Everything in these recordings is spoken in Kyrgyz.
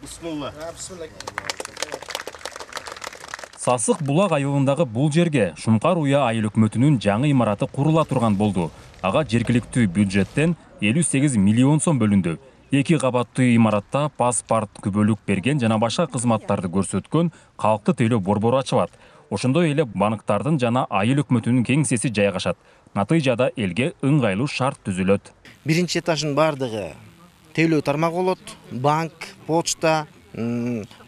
Бисмилла. Сасык Булак айылындагы бул жерге Шумкар Уя айыл өкмөтүнүн жаңы имараты курула турган болду. Ага жергиликтүү бюджеттен 58 миллион сом бөлүндү. 2 кабаттуу имаратта паспорт, күбөлүк берген жана башка кызматтарды көрсөткөн калкты тейлөө борбору ачылат. Ошондой эле банктардын жана айыл өкмөтүнүн кеңсеси жайгашат. Натыйжада элге ыңгайлуу шарт түзүлөт. Биринчи этаждын бардыгы тейлөө тармагы болот, банк, почта,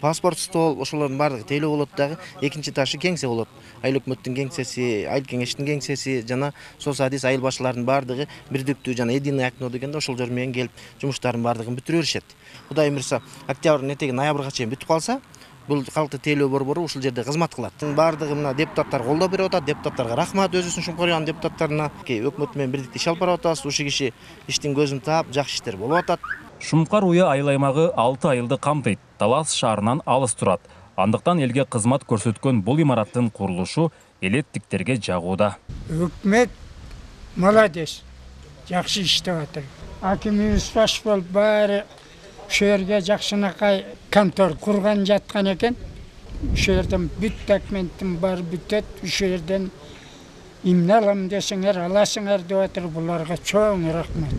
паспорт стол, ошолордун бардыгы тейлөө болот дагы. Экинчи этажы кеңсе болот. Айыл өкмөттүн кеңсеси, айыл кеңештин кеңсеси жана соцадис айыл башчыларынын бардыгы бирдиктүү жана единый окно дегенде ошол жер менен келип жумуштарын бардыгын бүтүрө беришет. Кудай буйрса, октябрдын этеги ноябрга чейин бүтүп калса, бул калкты тейлөө борбору ушул жерде кызмат кылат. Бардыгы мына депутаттар колдоп берип атат. Депутаттарга рахмат, өзүбүздүн Шумкар Уянын депутаттарына. Өкмөт менен бирдикте иш алып барып атабыз. Ушул киши иштин көзүн таап, жакшы иштер болуп атат. Шумкар Уя айыл аймагы 6 айылды камтыйт. Талас шаарынан алыс турат. Андыктан элге кызмат көрсөткөн бул имараттын курулушу элеттиктерге жагууда. Өкмөт молодец. Жакшы иштеп атат. Акимибиз баш болуп баары ошол жерге жакшынакай контор курган жаткан экен. Ошол жерден бүт документтин баары бүтөт. Ошол жерден эмне алам десеңер аласыңар деп атыр. Буларга чоң рахмат.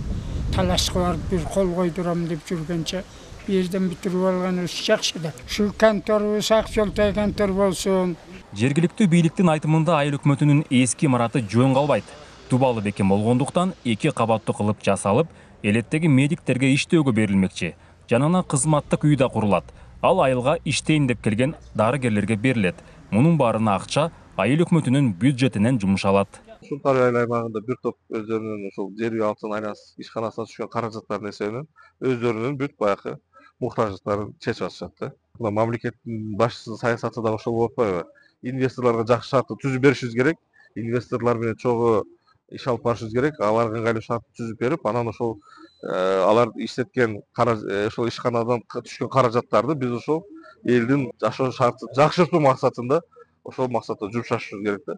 Талашка барып бир кол койдурам деп жүргөнчө бу жерден бүтүрүп алганыбыз жакшы да. Ушул конторубуз ак жолтой контор болсун. Жергиликтүү бийликтин айтымында айыл өкмөтүнүн эски имараты жөн калбайт. Тубалы бекем болгондуктан 2 кабаттуу кылып жасалып, элеттеги медиктерге иштөөгө берилмекчи. Жанына кызматтык үй да курулат. Ал айылга иштейин деп келген дарыгерлерге берилет. Мунун баарына акча айыл өкмөтүнүн бюджетинен жумшалат. Шумкар Уя айыл аймагында бир топ өздөрүнүн ушул жер үй алсын айланасы ишканасына түшкөн каражаттардын эсебинен өздөрүнүн бүт баягы муктаждыктарын чечип атышат да. Мына мамлекеттин башчысынын саясаты да ошол болуп атпайбы? Инвесторлорго жакшы шартты түзүп беришибиз керек. Инвесторлор менен чогуу иш алып барышыбыз керек. Аларга ыңгайлуу шарт түзүп берип, анан ошол алар иштеткен ошол ишканадан түшкөн каражаттарды биз ошол элдин жашоо шартын жакшыртуу максатында ошол максатта жумшашыбыз керек да.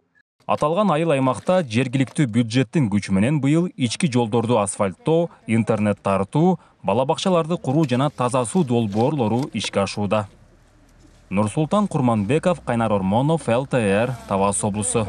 Аталган айыл аймакта жергиликтүү бюджеттин күчү менен быйыл ички жолдорду асфальттоо, интернет тартуу, бала бакчаларды куруу жана таза суу долбоорлору ишке ашууда. Нурсултан Курманбеков, Кайнар Ормонов, ЛТР, Талас облусу.